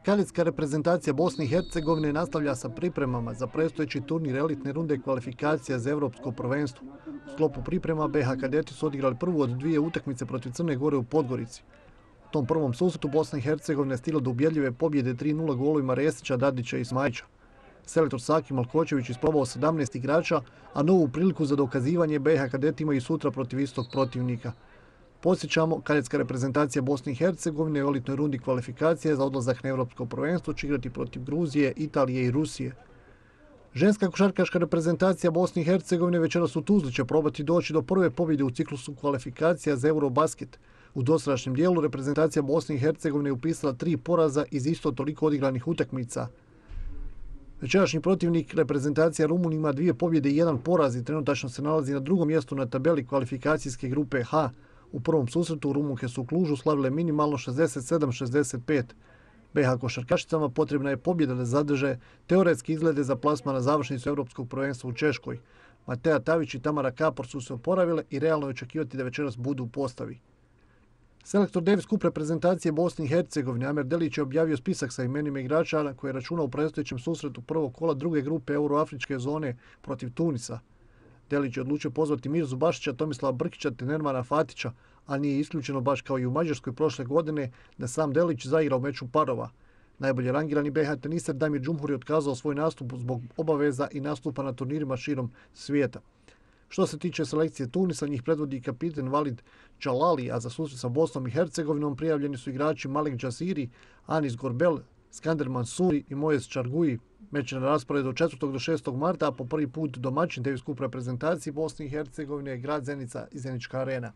Kadetska reprezentacija Bosne i Hercegovine nastavlja sa pripremama za predstojeći turnir elitne runde kvalifikacija za Evropsko prvenstvo. U sklopu priprema BiH kadeti su odigrali prvu od dvije utakmice protiv Crne Gore u Podgorici. U tom prvom susretu Bosna i Hercegovina je stigla do ubjedljive pobjede 3:0 golovima Resića, Dadića i Smajića. Selektor Saki Malkočević isprobao 17 igrača, a novu priliku za dokazivanje BiH kadeti imaju sutra protiv istog protivnika. Podsjećamo, kadetska reprezentacija Bosne i Hercegovine u elitnoj rundi kvalifikacije za odlazak na Evropsko prvenstvo će igrati protiv Gruzije, Italije i Rusije. Ženska košarkaška reprezentacija Bosne i Hercegovine večeras u Tuzli će probati doći do prve pobjede u ciklusu kvalifikacija za Eurobasket. U dosadašnjem dijelu reprezentacija Bosne i Hercegovine je upisala 3 poraza iz isto toliko odigranih utakmica. Večerašnji protivnik reprezentacija Rumun ima 2 pobjede i 1 poraz i trenutačno se nalazi na drugom mjestu na tabeli kvalifikacijske grupe H. U prvom susretu Rumunke su u Klužu slavile minimalno 67-65. BiH košarkašicama potrebna je pobjeda da zadrže teoretski izglede za plasman na završnicu Europskog prvenstva u Češkoj. Mateja Tavić i Tamara Kapor su se oporavile i realno je očekivati da večeras budu u postavi. Selektor Davis Cup reprezentacije Bosne i Hercegovine Amer Delić je objavio spisak sa imenima igrača na koje računa u predstojećem susretu prvog kola druge grupe euroafričke zone protiv Tunisa. Delić je odlučio pozvati Mirzu Bašića, Tomislava Brkića te Nermana Fatića, a nije isključeno baš kao i u Mađarskoj prošle godine da sam Delić zaigra u meču parova. Najbolje rangirani BiH teniser Damir Džumhur je otkazao svoj nastup zbog obaveza i nastupa na turnirima širom svijeta. Što se tiče selekcije Tunisa, njih predvodi kapitan Valid Džalali, a za susret sa Bosnom i Hercegovinom prijavljeni su igrači Malik Džasiri, Anis Gorbel, Skander Mansuri i Mojes Čarguji. Meč je na rasporedu od 4. do 6. marta, a po prvi put domaćin Davis Cup reprezentaciji Bosne i Hercegovine je grad Zenica i Zenička arena.